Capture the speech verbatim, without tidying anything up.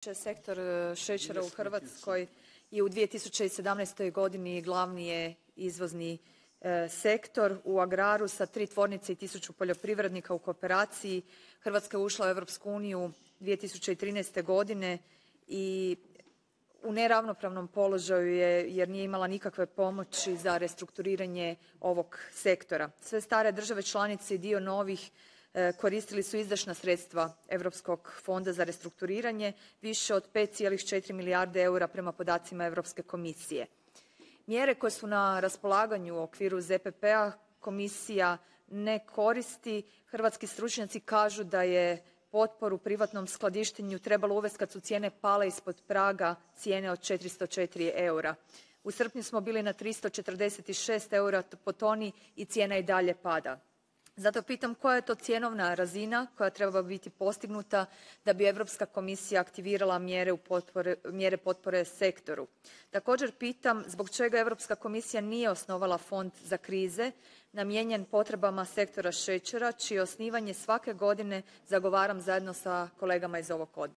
Sektor šećera u Hrvatskoj i u dvije tisuće sedamnaest. godini glavni je izvozni sektor. U agraru sa tri tvornice i tisuću poljoprivrednika u kooperaciji Hrvatska je ušla u Europsku uniju dvije tisuće trinaeste. godine i u neravnopravnom položaju je jer nije imala nikakve pomoći za restrukturiranje ovog sektora. Sve stare države članice i dio novih koristili su izdašna sredstva Europskog fonda za restrukturiranje, više od pet zarez četiri milijarde eura prema podacima Europske komisije. Mjere koje su na raspolaganju u okviru Z P P-a Komisija ne koristi. Hrvatski stručnjaci kažu da je potporu privatnom skladištenju trebalo uvesti kad su cijene pale ispod praga cijene od četiristo četiri eura. U srpnju smo bili na tristo četrdeset šest eura po toni i cijena i dalje pada. Zato pitam koja je to cjenovna razina koja treba biti postignuta da bi Europska komisija aktivirala mjere, potpore, mjere potpore sektoru. Također pitam zbog čega Europska komisija nije osnovala fond za krize namijenjen potrebama sektora šećera čije osnivanje svake godine zagovaram zajedno sa kolegama iz ovog odbora.